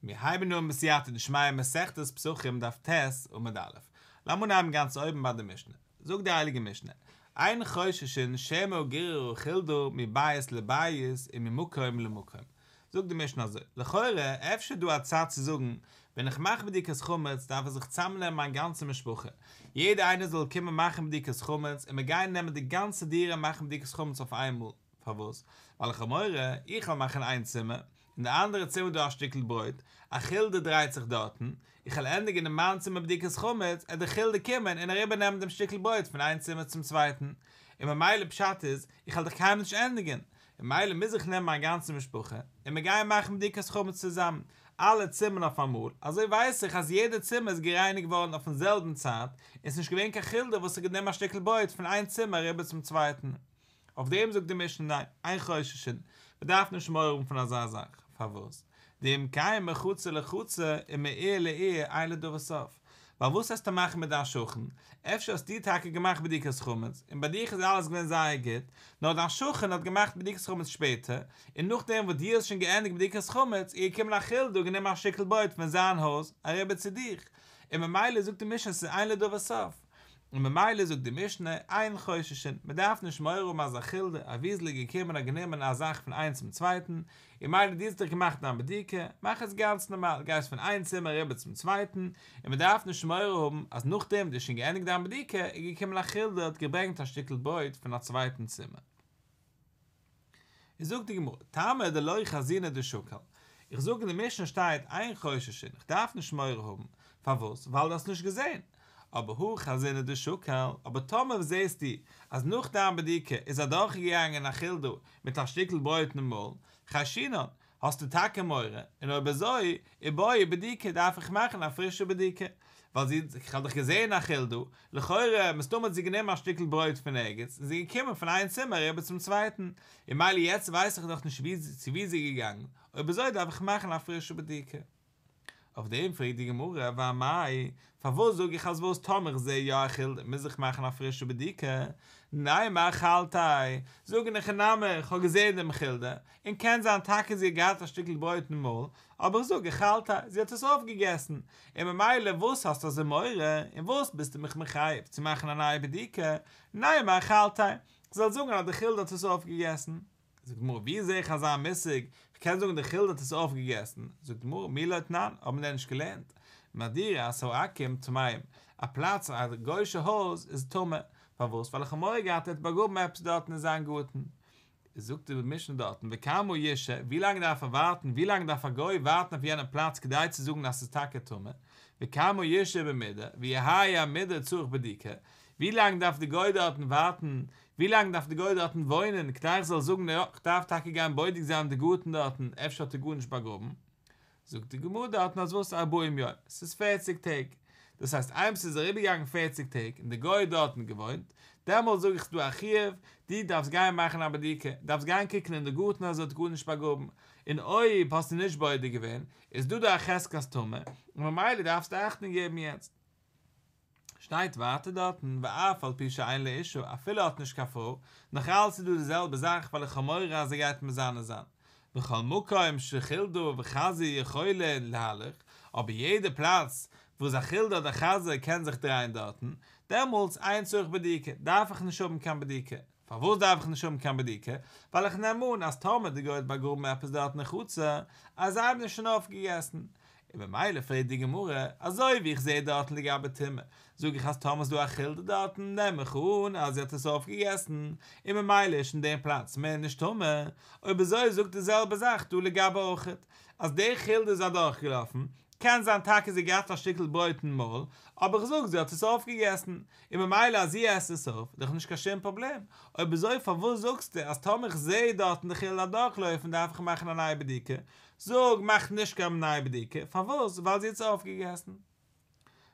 מיר הייבן אן בסייעתא דשמיא מסכת פסחים דף ט' עמוד א'. לאמיר אנהייבן גאנץ אויבן ביי די משנה. זאגט די הייליגע משנה, אין חוששין שמא גיררה חולדה מבית לבית וממקום למקום. זאגט די משנה אזוי, לכאורה אפשר איז דא א צד צו זאגן, ווען איך מאך בדיקת חמץ דארף איך זיך צאמנעמען מיין גאנצע משפחה, יעדער איינער זאל קומען מאכן בדיקת חמץ און מיר גייען נעמען די גאנצע דירה און מאכן בדיקת חמץ אויף איינמאל. פארוואס? ווייל איך האב מורא איך וועל מאכן איין צימער, אין די אנדערע צימער איז דא א שטיקל ברויט, א חולדה דרייט זיך דארטן, איך וועל ענדיגן אין מיין צימער בדיקת חמץ, עט די חולדה קומען און אריבער נעמען דעם שטיקל ברויט פון איין צימער צום צווייטן, און ממילא פשט איז, איך וועל דאך קיינמאל נישט ענדיגן, ממילא מוז איך נעמען מיין גאנצע משפחה, און מיר גייען מאכן בדיקת חמץ צוזאמען, אלע צימערן אויף אמאל, אזוי ווייס איך אז יעדע צימער איז גערייניגט געווארן אויפן זעלבן צייט, און ס'איז נישט געווען קיין חולדה וואס האט גענומען א שטיקל ברויט פון איין צימער אריבער צום צווייטן. אויף דעם זאגט די משנה ניין, אין חוששין, מען דארף נישט מורא האבן פון אזא זאך, פארוואס? דאם כן מחצר לחצר ומעיר לעיר אין לדבר סוף, ווייל וואס וועסטו מאכן מיט דיין שכן, אפשר האסטו טאקע געמאכט בדיקת חמץ, און ביי דיך איז אלעס געווען זייער גוט, נאר דיין שכן האט געמאכט בדיקת חמץ שפעטער, און נאכדעם וואס דו האסט שוין געענדיגט בדיקת חמץ, איז געקומען א חולדה און גענומען א שטיקל ברויט פון זיין הויז אריבער צו דיך, און ממילא זאגט די משנה ס'איז אין לדבר סוף. און ממילא זאגט די משנה, אין חוששין, מען דארף נישט מורא האבן אז א חולדה, א וויזל איז געקומען און האט גענומען א זאך פון איינס צום צווייטן, און ממילא דו האסט דאך געמאכט דיין בדיקה, מאך עס גאנץ נארמאל, גייסט פון איין צימער אריבער צום צווייטן, און מען דארף נישט מורא האבן אז נאכדעם דו האסט שוין געענדיגט דיין בדיקה, איז געקומען א חולדה האט געברענגט א שטיקל ברויט פון א צווייטן צימער. איז זאגט די גמרא, טעמא דלא חזינא דשקל, איך זאג אין די משנה שטייט אין חוששין, איך דארף נישט מורא האבן, פארוואס? ווייל דו האסט נישט געזען, אבער הא חזינא דשקל, אבער טאמער זעסטו אז נאך דיין בדיקה איז אדורכגעגאנגען א חולדה מיט א שטיקל ברויט אין מויל, חיישינן, האסטו טאקע מורא, און אויב אזוי, איבעי בדיקה דארף איך מאכן א פרישע בדיקה, ווייל זי, איך האב דאך געזען א חולדה, לכאורה, מסתמא האט זי גענומען א שטיקל ברויט פון ערגעץ, און זי איז געקומען פון איין צימער אריבער צום צווייטן, און ממילא יעצט ווייס איך דאך נישט ווי צו ווי זי איז געגאנגען, אויב אזוי דארף איך מאכן א פרישע בדיקה. אויף דעם פרעגט די גמרא, ואמאי, פארוואס זאג איך אז וואס טאמער איך זע יא א חולדה מוז איך מאכן א פרישע בדיקה? נימא אכלתיה, זאג אין הכי נמי, איך האב געזען דעם חולדה, און קען זיין טאקע זי האט געהאט א שטיקל ברויט אין מויל, אבער איך זאג אכלתיה, זי האט עס אויפגעגעסן, און ממילא וואס האסטו אזוי מורא, און וואס ביסטו מיך מחייב צו מאכן א נייע בדיקה, נימא אכלתיה, איך זאל זאגן אז די חולדה האט עס אויפגעגעסן. זאגט די גמרא, ווי זע איך אזא מושג, איך קען זאגן די חולדה האט עס אויפגעגעסן, זאגט די גמרא, מי לא תנן, האבן מיר דען נישט געלערנט, מדורת העכו"ם טמאים, א פלאץ א גוי'שע הויז איז טמא, פארוואס, ווייל איך האב מורא געהאט ער האט באגראבן עפעס דארטן אין זיין גארטן, זאגט די משנה דארטן, וכמה ישהה, ווי לאנג דארף ער ווארטן, ווי לאנג דארף א גוי ווארטן אויף יענעם פלאץ כדי צו זאגן אז ס'איז טאקע טמא, וכמה ישהה במודר, ויהא המודר צריך בדיקה, ווי לאנג דארף די גוי דארטן ווארטן, ווי לאנג דארף די גוי דארטן וואוינען כדי איך זאל זאגן יא, כ'דארף טאקע גיין בודק זיין די גארטן דארטן, אפשר האט ער גארנישט באגראבן. זאגט די גמרא דארטן אז וואס ארבעים יום, ס'איז פערציג טעג, דאס הייסט איינמאל ס'איז אריבערגעגאנגען פערציג טעג און די גוי האט דארטן געוואוינט, דעמאלט זאג איך ס'דא א חיוב, דו דארפסט גיין מאכן א בדיקה, דארפסט גיין קוקן אין די גארטן אז ער האט גארנישט באגראבן, און אויב האסטו נישט בודק געווען, איז דא דא א חזקת טומאה, און ממילא דארפסטו אכטונג געבן יעצט. שטייט ווייטער דארטן ואף על פי שאין לו אשה אפילו ער האט נישט קיין פרוי, נאך אלץ איז דא די זעלבע זאך ווייל איך האב מורא אז ער גייט מזנה זיין. וכל מקום שחולדה וחזיר יכולין להלך, אבער יעדע פלאץ וואס א חולדה אדער חזיר קען זיך דרייען דארטן, דעמאלטס אין צריך בדיקה, דארף איך נישט האבן קיין בדיקה. פארוואס דארף איך נישט האבן קיין בדיקה? ווייל איך נעם אן אז טאמער די גוי האט באגראבן עפעס דארט אין חצר, אז זיי האבן עס שוין אויפגעגעסן. און ממילא פרעגט די גמרא, אזוי ווי איך זע דארטן לגבי טומאה, זאג איך אז טאמער איז דא א חולדה דארטן נעם איך אן אז זי האט עס אויפגעגעסן, און ממילא איז שוין דעם פלאץ מער נישט טמא, אויב אזוי זאגט די זעלבע זאך דא לגבי אויכעט, אז די חולדה איז אדורכגעלאפן, קען זיין טאקע זי האט געהאט א שטיקל ברויט אין מויל, אבער איך זאג זי האט עס אויפגעגעסן, און ממילא אז זי עסט עס אויף, איז דאך נישט קיין שום פראבלעם, אויב אזוי פארוואס זאגסטו אז טאמער איך זעה דארטן די חולדה אדורכלויפן דארף איך מאכן א נייע בדיקה, זאג, מאך נישט קיין נייע בדיקה, פארוואס? ווייל זי האט עס אויפגעגעסן.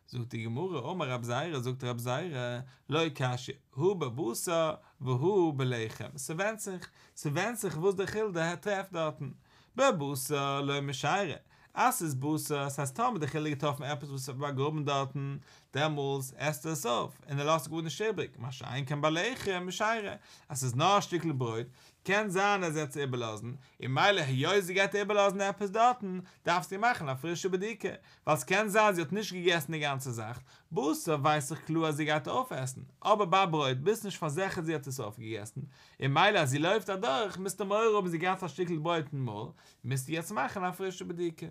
זאגט די גמרא, אמר רב זירא, זאגט רב זירא, לא קשיא, הא בבשר והא בלחם, ס'ווענדט זיך, ס'ווענדט זיך וואס די חולדה טרעפט דארטן, בבשר לא משיירא, אז ס'איז בשר, ס'הייסט טאמער די חולדה האט געטראפן עפעס וואס איז באגראבן דארטן, דעמאלס עסט ער עס אויף, און ער לאזט גארנישט איבריג, מה שאין כן בלחם משיירא, אז ס'איז נאר א שטיקל ברויט, קען זיין אז זי האט עס איבערלאזן, און ממילא היות זי גייט איבערלאזן עפעס דארטן, דארפסטו מאכן א פרישע בדיקה, ווייל ס'קען זיין זי האט נישט געגעסן די גאנצע זאך, בשר ווייס איך קלאר אז זי גייט אויפעסן, אבער ביי ברויט ביסט נישט פארזיכערט זי האט עס אויפגעגעסן, און ממילא אז זי לויפט אדורך מוזטו מורא האבן זי געהאט א שטיקל ברויט אין מויל, מוזטו יעצט מאכן א פרישע בדיקה.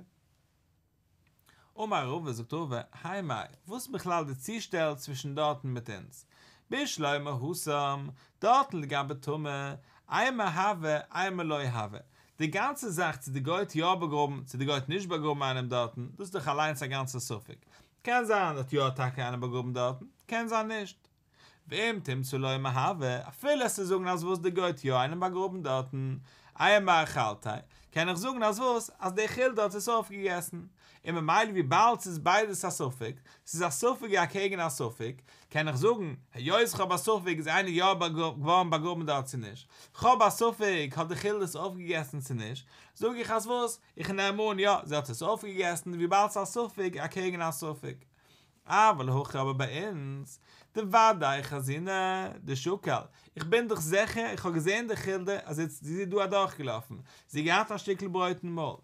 אמר רבא זאגט רבא, האי מאי, וואס איז בכלל די צושטעל צווישן דארטן מיט אונז? בשלמא התם, דארטן לגבי טומאה, אימא הוי אימא לא הוי, די גאנצע זאך צו די גוי האט יא באגראבן צו די גוי האט נישט באגראבן איינעם דארטן, דאס איז דאך אליינס א גאנצע ספק, קען זיין האט יא טאקע איינעם באגראבן דארטן, קען זיין נישט. ואם תמצא לומר הוי, אפילו וועסטו זאגן אז וואס די גוי האט יא איינעם באגראבן דארטן, אימא אכלתיה, קען איך זאגן אז וואס, אז די חולדה האט עס אויפגעגעסן, און ממילא וויבאלד ס'איז ביידעס א ספק, ס'איז א ספק אקעגן א ספק, קען איך זאגן, היות כ'האב א ספק איז איינער יא געווארן באגראבן דארט צו נישט, כ'האב א ספק האט די חולדה עס אויפגעגעסן צו נישט, זאג איך אז וואס, איך נעם אן יא, זי האט עס אויפגעגעסן וויבאלד ס'איז א ספק אקעגן א ספק. אבל הכא אבער ביי אונז, דודאי חזינא דשקל, איך בין דאך זיכער, איך האב געזען די חולדה אז זי איז דא אדורכגעלאפן, זי האט געהאט א שטיקל ברויט אין מויל,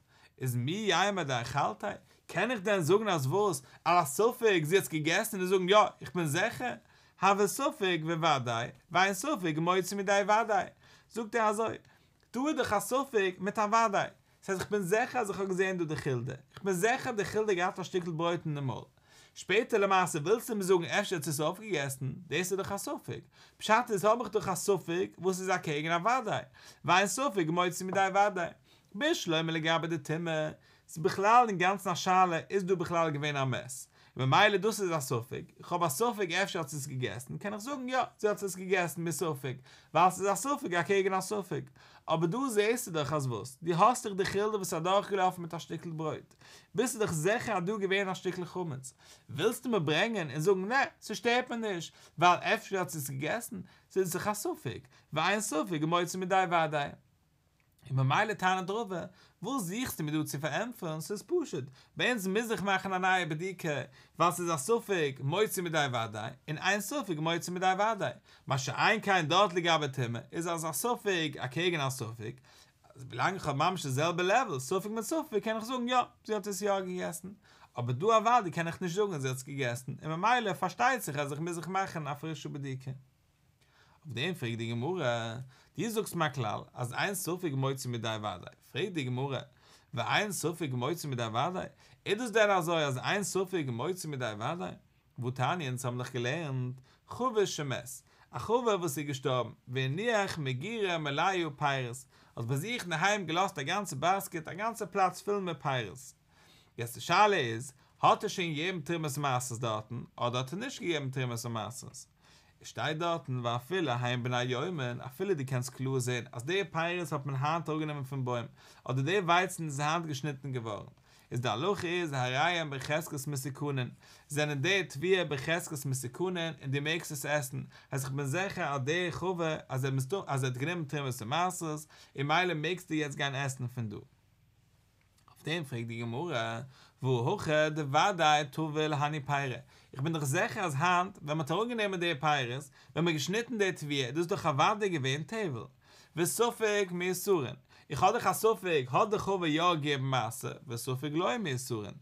איז מי יימר דאכלתיה, קען איך דען זאגן אז וואס, על הספק זי האט עס געגעסן און זאגן יא, איך בין זיכער, הוי ספק וודאי, ואין ספק מוציא מידי וודאי, זאגט ער אזוי, דא איז דאך א ספק מיט א וודאי, ס'הייסט איך בין זיכער אז איך האב געזען דא די חולדה, איך בין זיכער אז די חולדה האט געהאט א שטיקל ברויט אין די מויל. שפעטער למעשה ווילסטו מיר זאגן אפשר האט זי עס אויפגעגעסן, דאס איז דאך א ספק, פשט איז האב איך דאך א ספק וואס איז אקעגן א וודאי, ואין ספק מוציא מידי וודאי. בשלמא לגבי די טומאה, ס'איז בכלל אינגאנצן א שאלה איז דא בכלל געווען א מת, ממילא דאס איז א ספק, איך האב א ספק אפשר האט זי עס געגעסן, קען איך זאגן יא, זי האט עס געגעסן מספק, ווייל ס'איז א ספק אקעגן א ספק, אבער דא זעסטו דאך אז וואס, דו האסט דאך די חולדה וואס איז אדורכגעלאפן מיט א שטיקל ברויט, ביסטו דאך זיכער אז דא געווען א שטיקל חמץ, ווילסטו מיר ברענגען און זאגן נע, ס'שטערט מיר נישט, ווייל אפשר האט זי עס געגעסן, ס'איז דאך א ספק, ואין ספק מוציא מידי וודאי. און ממילא טענה'ט רבא, וואס זוכסטו מיר דא צו פארענטפערן, ס'איז פשוט, ביי אונז מוז איך מאכן א נייע בדיקה, ווייל ס'איז א ספק מוציא מידי וודאי, און אין ספק מוציא מידי וודאי, מה שאין כן דארט לגבי טומאה, איז אז א ספק אקעגן א ספק, אז ווילאנג איך האב ממש די זעלבע לעוול, ספק מיט ספק, קען איך זאגן יא, זי האט עס יא געגעסן, אבער דא אוודאי קען איך נישט זאגן אז זי האט עס געגעסן, און ממילא פארשטייט זיך אז איך מוז איך מאכן א פרישע בדיקה. אויף דעם פרעגט די גמרא, דו זאגסט מיר א כלל אז אין ספק מוציא מידי וודאי, פרעגט די גמרא, ואין ספק מוציא מידי וודאי, איז דאס דען אזוי אז אין ספק מוציא מידי וודאי? והתניא אונז האבן דאך געלערנט, חבר שמת, א חבר וואס איז געשטארבן, והניח מגירה מלאה פירות, האט ביי זיך אינדערהיים געלאזט א גאנצע באסקעט, א גאנצע פלאץ פול מיט פירות. יעצט די שאלה איז, האט ער שוין געגעבן תרומות ומעשרות דארטן, אדער האט ער נישט געגעבן תרומות ומעשרות? עס שטייט דארטן ואפילו הן בני יומן, אפילו דו קענסט קלאר זען אז די פירות האט מען היינט אראפגענומען פון בוים, אדער די ווייצן איז היינט געשניטן געווארן, איז די הלכה איז הרי הן בחזקת מתוקנין, זענען די תבואה בחזקת מתוקנין און דו מעגסט עס עסן, הייסט איך בין זיכער אז די חבר אז ער אז ער האט גענומען תרומות ומעשרות, און ממילא מעגסטו יעצט גיין עסן פון דא. אויף דעם פרעגט די גמרא, והא הכא דודאי טביל הני פירי, איך בין דאך זיכער אז היינט ווען מ'האט אראפגענומען די פירות, ווען מ'האט געשניטן די תבואה, דאס איז דאך אוודאי געווען טבל. וספק מעושרין, איך האב דאך א ספק, האט די חבר יא געגעבן מעשר, וספק לא מעושרין,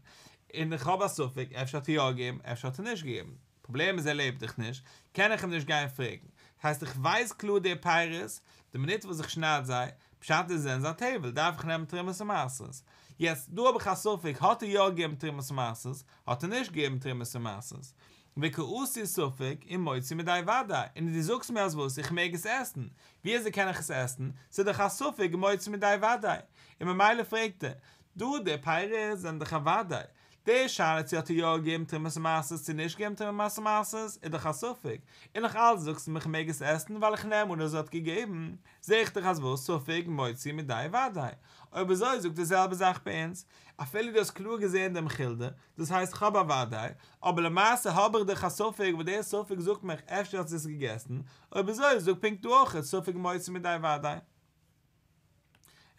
און איך האב א ספק, אפשר האט ער יא געגעבן, אפשר האט ער נישט געגעבן. פראבלעם איז ער לעבט דאך נישט, קען איך אים נישט גיין פרעגן. הייסט איך ווייס קלאר די פירות, די מינוט וואס איך שנייד זיי, פשט איז זענען זיי טבל, דארף איך נעמען תרומות ומעשרות. יעצט דא האב איך א ספק האט ער יא געגעבן תרומות ומעשרות, האט ער נישט געגעבן תרומות ומעשרות. וקאתי ספק ומוציא מידי וודאי, און דו זאגסט מיר אז וואס, איך מעג עס עסן? ווי אזוי קען איך עס עסן? ס'איז דאך א ספק מוציא מידי וודאי. און ממילא פרעגט ער, דא די פירות זענען דאך א וודאי, די שאלה צו האט ער יא געגעבן תרומות ומעשרות צו נישט געגעבן תרומות ומעשרות איז דאך א ספק, און נאך אלץ זאגסטו מיר כ'מעג עס עסן ווייל איך נעם אן אז ער האט געגעבן, זעה איך דאך אז וואס ספק מוציא מידי וודאי. אויב אזוי זאג די זעלבע זאך ביי אונז, אפילו דו האסט קלאר געזען דעם חולדה, דאס הייסט כ'האב א וודאי, אבער למעשה האב איך דאך א ספק וואס דער ספק זאגט מיך אפשר האט זי עס געגעסן, אויב אזוי זאג פונקט דא אויך ספק מוציא מידי וודאי.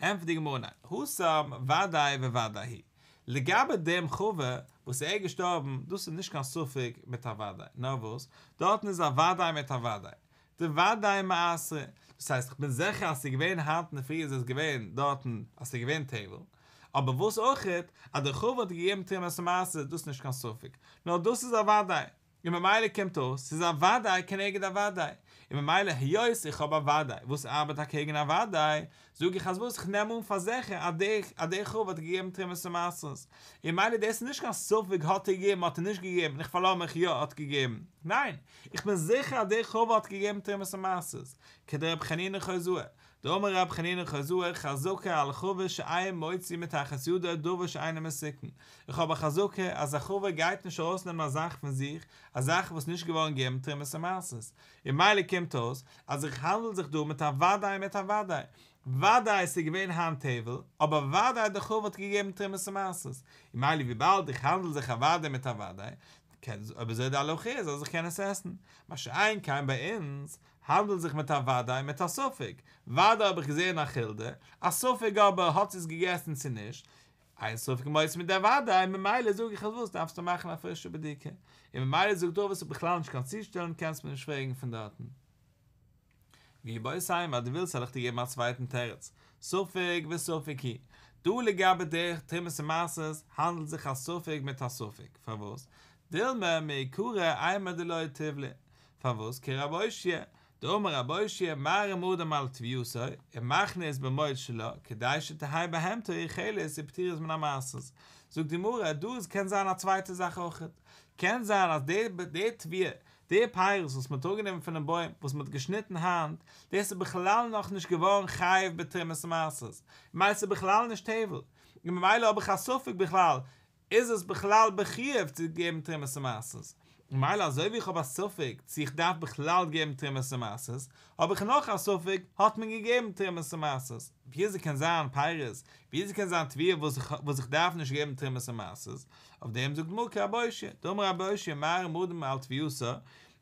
ענטפערט די גמרא ניין, התם ודאי וודאי הוא, לגבי דעם חבר וואס ער איז געשטארבן, דאס איז נישט קיין ספק מיט א וודאי, נאר וואס, דארטן איז א וודאי מיט א וודאי. דודאי מעשרה, דאס הייסט איך בין זיכער אז ס'איז געווען היינט אינדערפרי איז עס געווען דארטן אז ס'איז געווען טבל, אבער וואס אויכעט אז דער חבר האט געגעבן תרומת ומעשר דאס איז נישט קיין ספק, נאר דאס איז א וודאי, און ממילא קומט אויס ס'איז א וודאי כנגד א וודאי, און ממילא היות איך האב א וודאי וואס ארבעט אקעגן א וודאי, זאג איך אז וואס איך נעם אן פאר זיכער אז דער אז דער חבר האט געגעבן תרומת ומעשרות, און ממילא דאס איז נישט קיין ספק האט ער געגעבן האט ער נישט געגעבן איך פארלאז מיך יא האט געגעבן, ניין איך בין זיכער אז דער חבר האט געגעבן תרומת ומעשרות, כדרב חנינא חוזאה, דאמר רב חנינא חוזאה חזקה על חבר שאין מוציא מתחת ידו דבר שאינו מתוקן, איך האב א חזקה אז א חבר גייט נישט ארויסנעמען א זאך פון זיך, א זאך וואס נישט געווארן געגעבן תרומת ומעשרות, און ממילא קומט אויס אז איך האנדל זיך דא מיט א וודאי מיט א וודאי, וודאי עס איז געווען היינט טבל, אבער וודאי דער חבר האט געגעבן תרומת ומעשרות, און ממילא וויבאלד איך האנדל זיך א וודאי מיט א וודאי, קען אויב אזוי די הלכה איז אז איך קען עס עסן, מה שאין כן ביי אונז, האנדלט זיך מיט א וודאי מיט א ספק, וודאי האב איך געזען א חולדה, א ספק אבער האט זי עס געגעסן צו נישט, אין ספק מוציא מידי וודאי, ממילא זאג איך אז וואס דארפסטו מאכן א פרישע בדיקה, און ממילא זאגט רבא ס'איז בכלל נישט קיין צושטעלן קענסט מיר נישט פרעגן פון דארטן. ואיבעית אימא אז דו ווילסט וועל איך דיר געבן א צווייטן תירוץ, ספק וספק הוא, דא לגבי די תרומות ומעשרות האנדלט זיך א ספק מיט א ספק, פארוואס? דילמא מעיקרא אימר דלא טיבלא, פארוואס כרב אושעיא, דאמר רב אושעיא מערים אדם על תבואתו ומכניס במוץ שלה כדי שתהא בהמתו אוכלת ופטורה מן המעשרות, זאגט די גמרא דא עס קען זיין א צווייטע זאך אויכעט, קען זיין אז די די תבואה די פירות וואס מען האט אראפגענומען פונעם בוים וואס מען האט געשניטן היינט דאס איז בכלל נאכנישט געווארן חייב בתרומת ומעשרות, ממילא ס'איז בכלל נישט טבל, און ממילא האב איך א ספק בכלל איז עס בכלל בחיוב צו געבן תרומות ומעשרות? ממילא אזוי ווי איך האב א ספק צו איך דארף בכלל געבן תרומות ומעשרות, האב איך נאך א ספק, האט מען געגעבן תרומות ומעשרות? וויאזוי קען זיין פירות, וויאזוי קען זיין תבואה וואס איך וואס איך דארף נישט געבן תרומות ומעשרות? אויף דעם זאגט די גמרא כרב אושעיא, דאמר רב אושעיא מערים אדם על תבואתו,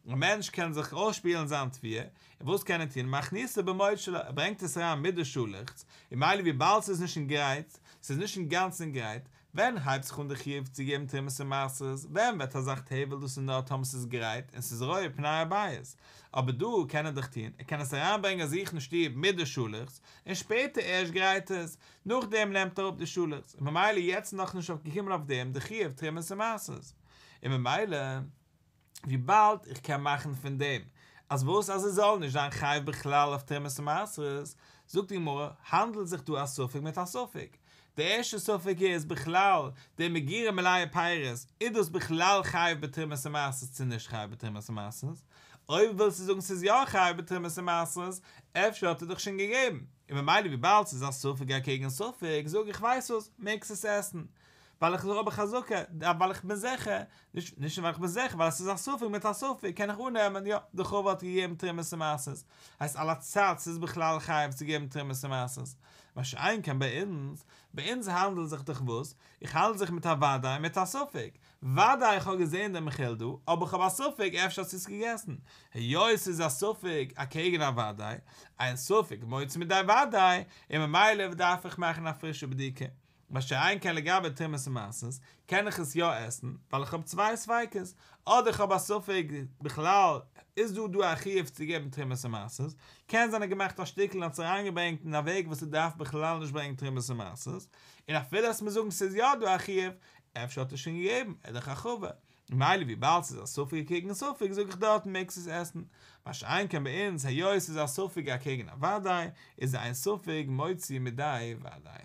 א מענטש קען זיך אויסשפילן זיין תבואה, און וואס קען ער טון? מכניסה במוץ שלה, ער ברענגט עס אריין מיט די שאלעכץ, און ממילא וויבאלד ס'איז נישט אין גרייט, ס'איז נישט אינגאנצן גרייט, ווען הייבט זיך אן די חיוב צו געבן תרומות און מעשרות? ווען ווערט א זאך טבל? דאס איז נאר טאמער ס'איז גרייט און ס'איז רואה פני הבית. אבער דא קען ער דאך טון, ער קען עס אריינברענגען זיך אין שטוב מיט די שאלעכץ, און שפעטער ערשט גרייט עס, נאכדעם נעמט ער אראפ די שאלעכץ, און ממילא יעצט איז נאכנישט אויפגעקומען אויף דעם די חיוב תרומות און מעשרות. און ממילא. וויבאלד איך קען מאכן פון דעם אז וואס אז עס זאל נישט זיין חייב בכלל אויף תרומות ומעשרות, זאגט די גמרא, האנדלט זיך דא א ספק מיט א ספק. די ערשטע ספק איז בכלל די מגירה מלאה פירות, איז דאס בכלל חייב בתרומות ומעשרות צו נישט חייב בתרומות ומעשרות? אויב ווילסטו זאגן ס'איז יא חייב בתרומות ומעשרות, אפשר האט ער דאך שוין געגעבן, און ממילא וויבאלד ס'איז א ספק אקעגן ספק, זאג איך ווייסט וואס, מעגסט עס עסן, ווייל איך האב א חזקה, ווייל איך בין זיכער, נישט נישט ווייל איך בין זיכער, ווייל עס איז א ספק מיט א ספק, קען איך אננעמען, יא, די חבר האט געגעבן תרומות ומעשרות, הייסט על הצד ס'איז בכלל חייב צו געבן תרומות ומעשרות, מה שאין כן ביי אונז, ביי אונז האנדלט זיך דאך וואס? איך האנדל זיך מיט א וודאי מיט א ספק, וודאי איך האב געזען דעם חולדה, אבער איך האב א ספק אפשר האט זי עס געגעסן, היות ס'איז א ספק אקעגן א וודאי, אין ספק מוציא מידי וודאי, און ממילא דארף איך מאכן א פרישע בדיקה. מה שאין כן לגבי תרומות ומעשרות, קען איך עס יא עסן, ווייל איך האב צוויי ספיקות, אדער איך האב א ספק בכלל איז דא דא א חיוב צו געבן תרומות ומעשרות, קען זיין ער האט געמאכט א שטיקל און האט עס אריינגעברענגט אין א וועג וואס ער דארף בכלל נישט ברענגען תרומות ומעשרות, און אפילו אז מיר זאגן ס'איז יא דא א חיוב, אפשר האט ער שוין געגעבן, ער איז דאך א חבר, ממילא וויבאלד ס'איז א ספק אקעגן ספק זאג איך דארטן מעגסט עס עסן, מה שאין כן ביי אונז היות ס'איז א ספק אקעגן א וודאי, איז אין ספק מוציא מידי וודאי.